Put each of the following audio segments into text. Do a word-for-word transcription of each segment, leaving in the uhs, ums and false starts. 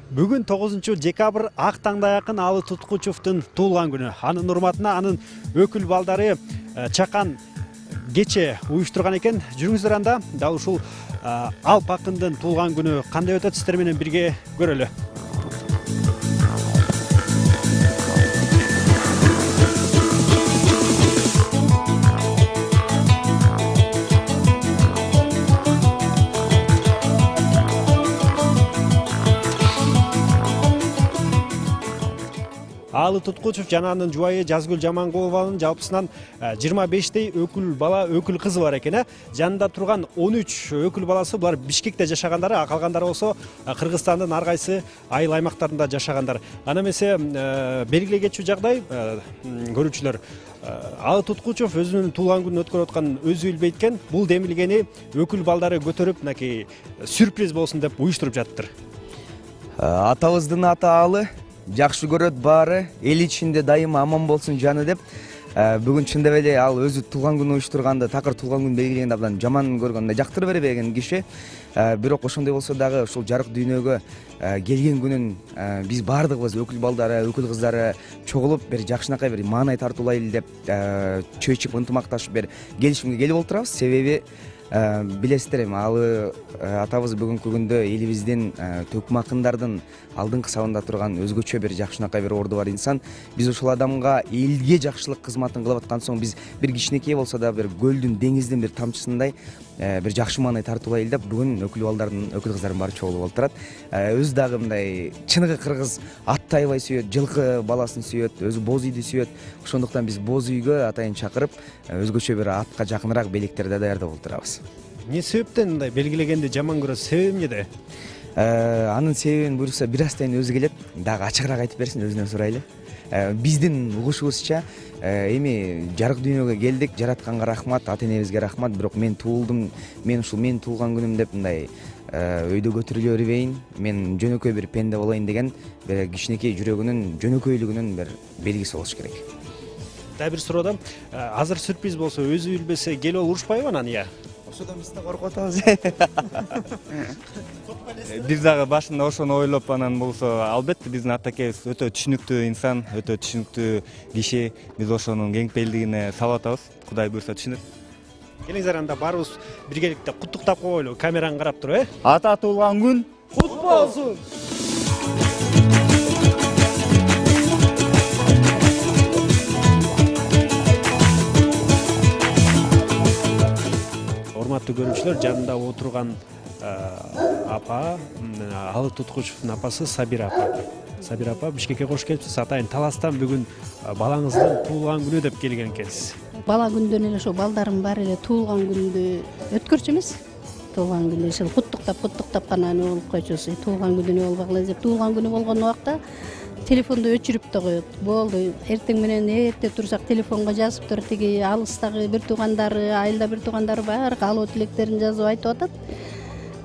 Бүгүн тогузунчу декабрь ак таңда якын Алы Туткучевдун туулган күнү. Анын урматына анын өкүл балдары чакан кече уюштурган экен. Жүрүңүздөр анда дал ушул Алп акындын туулган күнү кандай өтөт, сиздер менен бирге көрөлү. Алы Туткучев жана анын жубайы Жазгүл Жамангулованын жалпысынан жыйырма бештей өкүл бала, өкүл кызы бар экен. Жанында турган он үч өкүл баласы булар Бишкекте жашагандары, а калгандары болсо Кыргызстандын ар кайсы айыл аймактарында жашагандар. Ана эмесе белгилей кетчү жагдай көрүүчүлөр, Алы Туткучев өзүнүн туулган күнүн өткөрүп атканын өзү билбейт экен. Бул демилгени өкүл балдары көтөрүп, мынакей сюрприз болсун деп уюштуруп жатыптыр. Атабыздын аты Алы, жакшы көрөт баары, эл ичинде дайыма аман болсун жаны деп. Бүгүн чындап эле ал өзү туулган күн уюштурганда, такыр туулган күн белгилегенде абдан жаман көргөн, жактырып бербеген киши. Бирок ошондой болсо дагы ушул жарык дүйнөгө келген күнүн биз баардыгыбыз өкүл балдары, өкүл кыздары чогулуп бир жакшынакай бир маанай тартуулайлы деп чөйчүп ынтымакташып бир келишимге келип отурабыз. Себеби билесиздер эми Алы атабыз бүгүнкү күндө элибиздин төкүм акындардын алдыңкы сабында турган өзгөчө бир жакшынакай бир орду бар инсан. Биз ушул адамга элге жакшылык кызматын кылып аткан соң биз бир кичинекей болсо да бир көлдүн, деңиздин бир тамчысындай бир жакшы маанай тартуулайлы деп бүгүн өкүл балдардын, өкүл кыздардын баары чогулуп отурат. Өзү дагы мындай чыныгы кыргыз атты аябай сүйөт, жылкы баласын сүйөт, өзү боз үйдү сүйөт. Ошондуктан биз боз үйгө атайын чакырып, өзгөчө бир атка жакыныраак белектерди даярдап отурабыз. Не себептен мындай белгилегенди жаман көрөт? Себеби эмнеде? Анын себебин буюрса бир астайын өзү келет, дагы ачыгыраак айтып берсин, өзүнөн сурайлы. Биздин угушубузча эми жарык дүйнөгө келдик, жаратканга рахмат, ата энебизге рахмат, бирок мен туулдум, мен ушул менин туулган күнүм деп мындай өйдө көтөрүлө бербейин, мен жөнөкөй бир пенде болоюн деген бир кичинекей жүрөгүнүн жөнөкөйлүгүнүн бир белгиси болуш керек. Дагы бир суроодон, азыр сюрприз болсо өзү билбесе келип алып урушпайбы анан? Ия. Ошодон биз да коркуп атабыз. Биз дагы башында ошону ойлоп анан болсо, албетте биздин атакебиз өтө түшүнүктүү инсан, өтө түшүнүктүү киши. Биз ошонун кеңпейилдигине салып атабыз. Кудай буйрса түшүнөт. Келиңиздер анда барыбыз биргеликте куттуктап коелу. Камераны карап туруп, э? Ата туулган күн кут болсун. Урматтуу көрүүчүлөр, жанында отурган апа, Алы Туткучевдун апасы Сабира апа. Сабира апа, Бишкекке кош келипсиз. Атайын Таластан бүгүн балаңыздын туулган күнү деп келген экенсиз. Бала күндөн эле ошо балдарым баары эле туулган күндү өткөрчү эмес. Туулган күндү ошо куттуктап, куттуктап гана не болуп койчусу. Туулган күнү не болбагыла деп, туулган күнү болгон убакта телефонду өчүрүп да коет. Болду, эртең менен эрте турсак телефонго жазыптыр, тиги алыстагы бир туугандары, айылда бир туугандары баары каалоо тилектерин жазып айтып атат.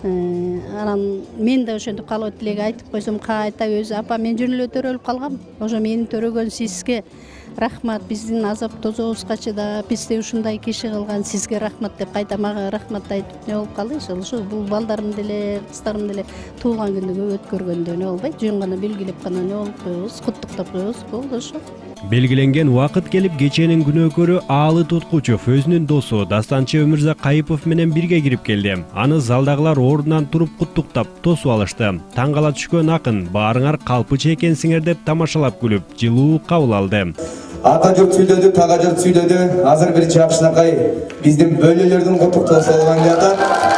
Анан мен да ошентип каалоо тилек айтып койсом, кайта өзү апа мен жөн эле төрөлүп калгам. Ошо мени төрөгөн сизге рахмат, биздин азап тозобузга чыдап, бизди ушундай киши кылган сизге рахмат деп кайта мага рахмат айтып не болуп калды. Ошо бул балдарым деле, кыздарым деле туулган күндү өткөргөндө не болбойт, жөн гана белгилеп гана не болуп коебуз, куттуктап коебуз, болду ошо. Белгиленген убакыт келип, кеченин күнөөкөрү Алы Туткучев өзүнүн досу Дастанчы Өмүрзак Кайыпов менен бирге кирип келди. Аны залдагылар ордунан туруп куттуктап, тосуп алышты. Таң кала түшкөн акын баарыңар калпыча экенсиңер деп тамашалап күлүп, жылуу кабыл алды. Ата журт сүйлөдү, тага журт сүйлөдү. Азыр бир жакшынакай биздин бөлөлөрдүн куттуктоосу болгон жата.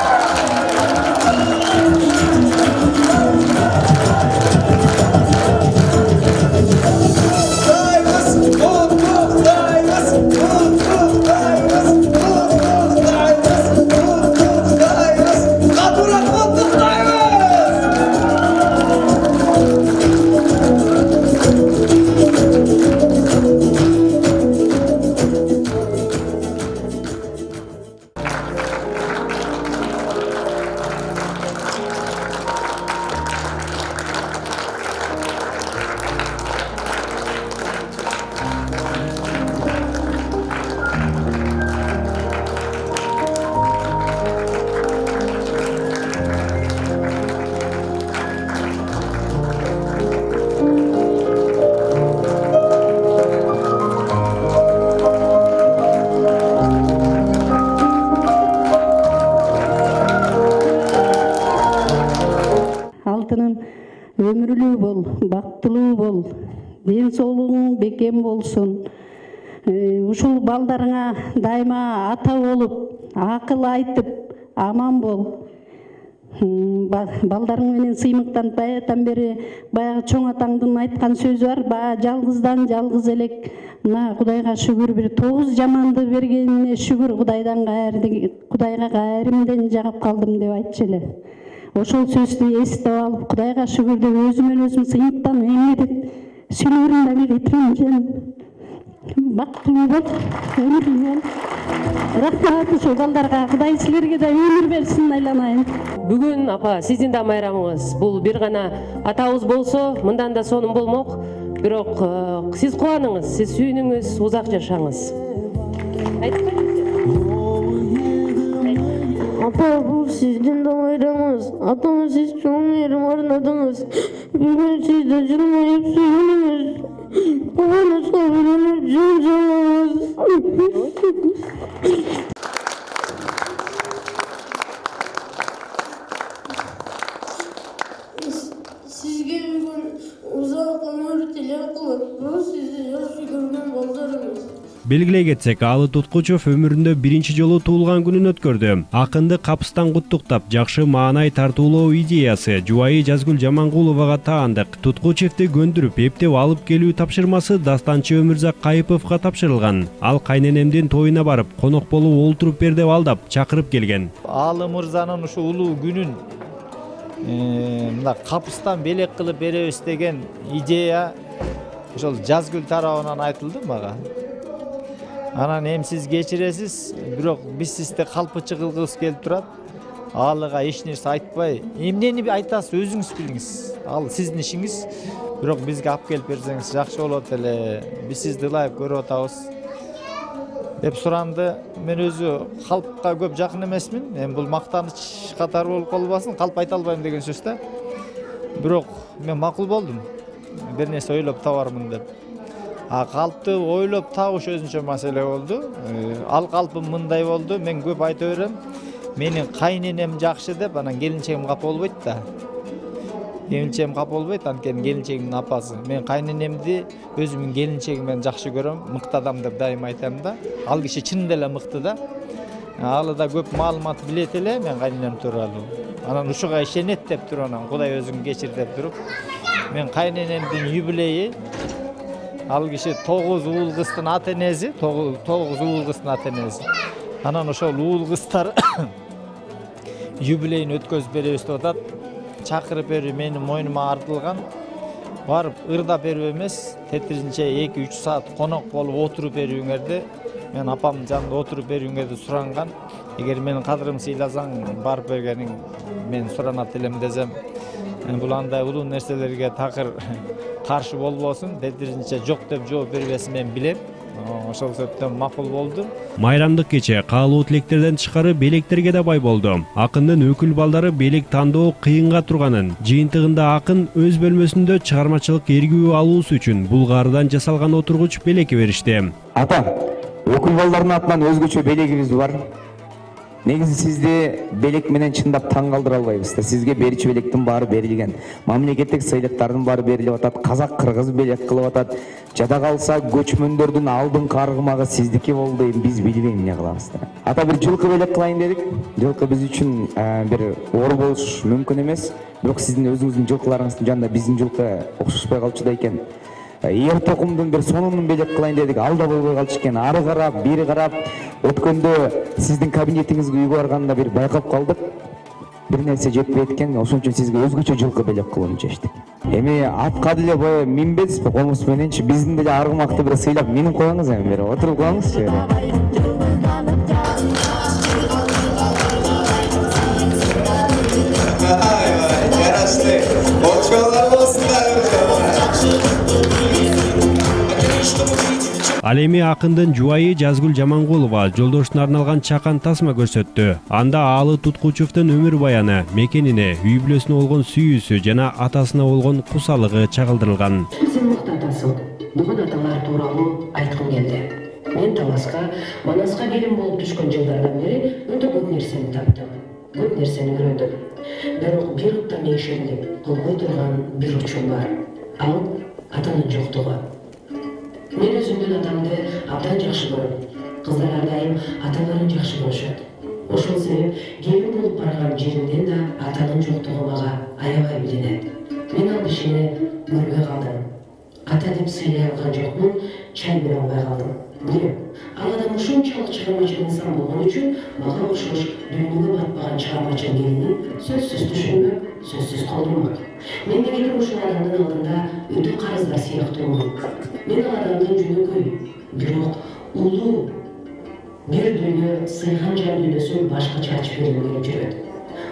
алтыным өмүрлүү бол, бактылуу бол, ден соолугуң бекем болсун. Ушул балдарыңа дайыма ата болуп, акыл айтып, аман бол. Балдарың менен сыймыктанып баягыдан бери баягы чоң атаңдын айткан сөзү бар, баягы жалгыздан жалгыз элек. Мына Кудайга шүгүр, бир тогуз жаманды бергенине шүгүр, Кудайдан кайрды, Кудайга кайрымден жагып калдым деп айтчу эле. Ошол сөздү эстеп алып, Кудайга шүгүр деп өзүмөн өзүм сыймыктанып эмгедип, сүйлөрүм дагы кетирем. Бактылуу бол, өмүрлүү бол. Рахмат ушул балдарга, Кудай силерге да өмүр берсин айланайын. Бүгүн апа сиздин да майрамыңыз. Бул бир гана атабыз болсо, мындан да сонун болмок. Бирок сиз кубаныңыз, сиз сүйүнүңүз, узак жашаңыз. Апа, бул сиздин да майрамыңыз. Атама сиз чоң мээрим арнадыңыз. Бүгүн сиз да жылмайып сүйүнүңүз. Кубанычка бөлөнүп жол жолуңуз. Sizge bugün uzak ömür tilek kılıp, bu sizi yaxşı görgen baldarыңыз. Белгилей кетсек, Алы Туткучев өмүрүндө биринчи жолу туулган күнүн өткөрдү. Акынды капыстан куттуктап, жакшы маанай тартуулоо идеясы жубайы Жазгүл Жамангуловага таандык. Туткучевди көндүрүп, эптеп алып келүү тапшырмасы дастанчы Өмүрзак Кайыповго тапшырылган. Ал кайненемдин тоюна барып, конок болуп олтуруп бер деп алдап, чакырып келген. Алы мырзанын ушу улуу күнүн мына капыстан белек кылып беребиз деген идея ошол Жазгүл тарабынан айтылды мага. Анан эми сиз кечиресиз, бирок биз сизди калпычы кылгыбыз келип турат. Алыга эч нерсе айтпай, эмнени айтасыз өзүңүз билиңиз. Ал сиздин ишиңиз, бирок бизге алып келип берсеңиз жакшы болот эле. Биз сизди ылайык көрүп атабыз деп суранды. Мен өзү калпка көп жакын эмесмин. Эми бул мактаныч катары болуп калбасын, калп айта албайм деген сөз да. Бирок мен макул болдум. Бир нерсе ойлоп табармын деп. А калпты ойлоп табыш өзүнчө маселе болду. Ал калпым мындай болду. Мен көп айта берем. Менин кайненем жакшы деп, анан келинчегим капа болбойт да. Келинчегим капа болбойт, анткени келинчегимдин апасы. Мен кайненемди өзүмдүн келинчегим менен жакшы көрөм. Мыкты адам деп дайыма айтам да. Ал киши чынында эле мыкты да. Алы да көп маалымат билет эле мен кайненем тууралуу. Анан ушуга ишенет деп туруп, анан Кудай өзүң кечир деп туруп. Мен кайненемдин юбилейи, ал киши тогуз уул кыздын ата энеси, тогуз уул кыздын ата энеси. Анан ошол уул кыздар юбилейин өткөзүп беребиз деп атат. Чакырып берүү менин мойнума артылган. Барып ырдап берүү эмес, тетиринче эки үч саат конок болуп отуруп берүүңөрдү, мен апамдын жанында отуруп берүүңөрдү суранган. Эгер менин кадырымды сыйласаң, барып бергениң мен суранат элем десем, бул андай улуу нерселерге такыр каршы болбосун, тетиринче жок деп жооп бербесин мен билем. Ошол себептен макул болду. Майрамдык кече каалуу тилектерден тышкары белектерге да бай болду. Акындын өкүл балдары белек тандоо кыйынга турганын, жыйынтыгында акын өз бөлмөсүндө чыгармачылык эргүү алуусу үчүн булгаардан жасалган отургуч белекке беришти. Ата, өкүл балдардын атынан өзгөчө белегибиз бар. Негизи сизди белек менен чындап таң калтыра албайбыз да. Сизге берчү белектин баары берилген. Мамлекеттик сыйлыктардын баары берилип атат. Казак, кыргыз белек кылып атат. Жада калса көчмөндөрдүн алдыңкы аргымагы сиздики болду, биз билбейм эмне кылабыз да. Ата бир жылкы белек кылайын дедик. Жылкы биз үчүн бир оор болуш мүмкүн эмес. Бирок сиздин өзүңүздүн жылкыларыңыздын жанында биздин жылкы окшошпой калчу да экен. Эр токумдун бир сонунун белек кылайын дедик, ал да болбой калчу экен. Ары карап, бери карап өткөндө сиздин кабинетиңизге үйгө барганда бир байкап калдык. Бир нерсе жетпей экен, ошон үчүн сизге өзгөчө жылкы белек кылууну чечтик. Эми атка деле бая минбедизби, комуз мененчи биздин деле аргымакты бир сыйлап минип коюңуз, эми бери отуруп коюңузчу. Жарашты. Болчолор болсундар. Ал эми акындын жубайы Жазгүл Жамангулова жолдошуна арналган чакан тасма көрсөттү. Анда Алы Туткучевдун өмүр баяны, мекенине, үй бүлөсүнө болгон сүйүүсү жана атасына болгон кусалыгы чагылдырылган. Сен мыкты атасың. Бүгүн аталар тууралуу айткым келди. Мен Таласка, Манаска келин болуп түшкөн жылдардан бери өтө көп нерсени таптым. көп нерсени үйрөндүм. Бирок бир утта меңшелип кылбой турган бир учур бар. Ал атанын жоктугу. Мен өзүмдүн атамды абдан жакшы көрөм. Кыздар ар дайым аталарын жакшы көрүшөт. Ошол себеп келин болуп барган жеримден да атанын жоктугу мага аябай билинет. Мен ал кишини көрбөй калдым. Ата деп сыйлай алган жокмун, чай бере албай калдым. Билем, ал адам ушунчалык чыгармачыл инсан болгон үчүн мага окшош дүйнөгө батпаган чыгармачыл келини сөзсүз түшүнмөк, сөзсүз колдонмок. Мен деген ушул адамдын алдында өтө карыздар сыяктуумун. Мен ал адамдын жөнөкөй, бирок улуу бир дүйнө сыйган жан дүйнөсүн башкача ачып бергим келип жүрөт.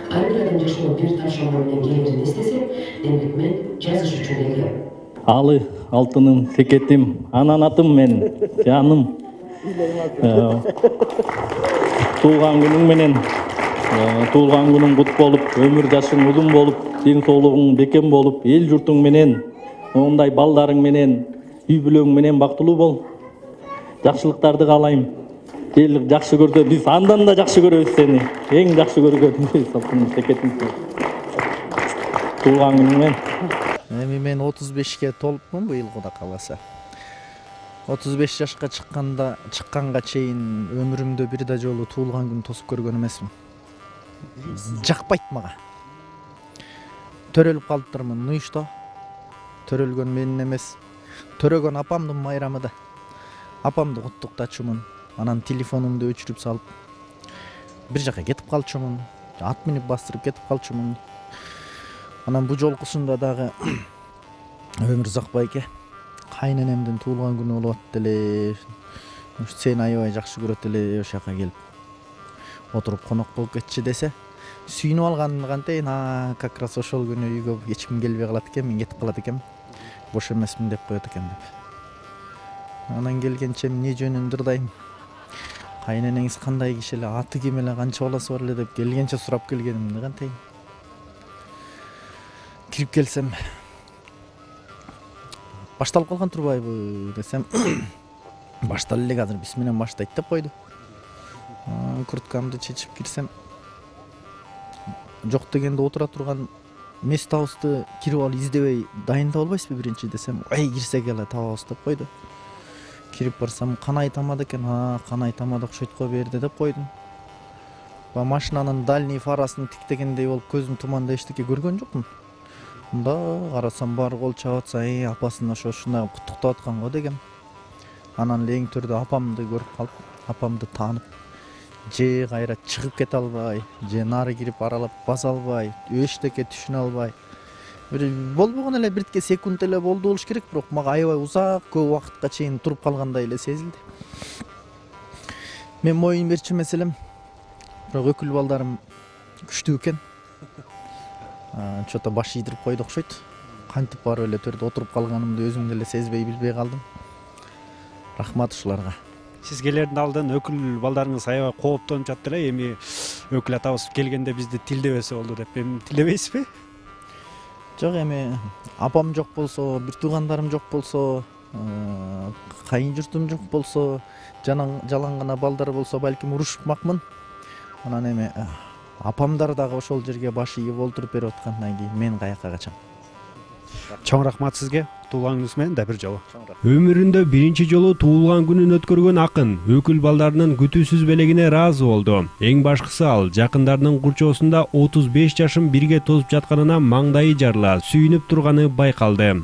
Ар бир адам жашоого бир тапшырма менен келерин эстесем, демек мен жазыш үчүн келгем. Алы алтыным, секетим, ананатым менин, жаным. Туулган күнүң менен, туулган күнүң кут болуп, өмүр жашың узун болуп, ден соолугуң бекем болуп, эл журтуң менен, ондай балдарың менен, үй бүлөң менен бактылуу бол. Жакшылыктарды каалайм. Эл жакшы көрсө, биз андан да жакшы көрөбүз сени. Эң жакшы көргөнүбүз алтыным, секетим. Туулган күнүң менен. Эми мен отуз бешке толупмун быйыл Кудай кааласа. отуз беш жашка чыкканда, чыкканга чейин өмүрүмдө бир да жолу туулган күн тосуп көргөн эмесмин. Жакпайт мага. Төрөлүп калыптырмын нуйушта. Төрөлгөн менин эмес, төрөгөн апамдын майрамы да. Апамды куттуктачумун. Анан телефонумду өчүрүп салып, бир жака кетип калчумун. Ат минип бастырып кетип калчумун. Анан бу жолкусунда дагы өмүр Узакбайке кайненемдин туулган күнү болуп атты эле. Сени аябай жакшы көрөт эле, ошол жака келип отуруп конок болуп кетчи десе, сүйүнүп алган кантейин, а как раз ошол күнү үйгө эч ким келбей калат экен, мен кетип калат экенмин. Бош эмесмин деп коет экен деп. Анан келгенче эмне жөнүн дырдайм. Кайненеңиз кандай киши эле, аты ким эле, канча баласы бар эле деп келгенче сурап келгенимди кантейин. Кирип келсем, башталып калган турбайбы десем, башталып элек азыр биз менен баштайт деп койду. Курткамды чечип кирсем, жок дегенде отура турган местабызды кирип алып издебей дайындап албайсызбы биринчи десем, ой кирсек эле табабыз деп койду. Кирип барсам, канай тамада экен, а канай тамада окшойт го берди деп койдум. Ба машинанын дальний фарасын тиктегендей болуп көзүм туманда эчтеке көргөн жокмун. Мында карасам баары кол чаап атса, эй апасын ошо ушундай куттуктап аткан го дегем. Анан эле эң төрдө апамды көрүп калып, апамды таанып, же кайра чыгып кете албай, же нары кирип аралап баса албай, эчтеке түшүнө албай. Бир болбогон эле биртке секунд эле болду болуш керек, бирок мага аябай узак көп убакытка чейин туруп калгандай эле сезилди. Мен моюн берчү эмес элем, бирок өкүл балдарым күчтүү экен. Чото баш ийдирип койду окшойт. Кантип барып эле төрдө отуруп калганымды өзүм деле сезбей билбей калдым. Рахмат ушуларга. Сизгелердин алдын өкүл балдарыңыз аябай кооптонуп жатты эле, эми өкүл атабыз келгенде бизди тилдебесе болду деп. Эми тилдебейсизби? Жок, эми апам жок болсо, бир туугандарым жок болсо, кайын журтум жок болсо, жалаң гана балдар болсо балким урушмакмын. Анан эми апамдар дагы ошол жерге баш ийип олтуруп берип аткандан кийин мен каяка качам. Чоң рахмат сизге. Туулган күнүңүз менен да бир жолу. Өмүрүндө биринчи жолу туулган күнүн өткөргөн акын өкүл балдарынын күтүүсүз белегине ыраазы болду. Эң башкысы ал жакындарынын курчоосунда отуз беш жашын бирге тосуп жатканына маңдайы жарыла, сүйүнүп турганы байкалды.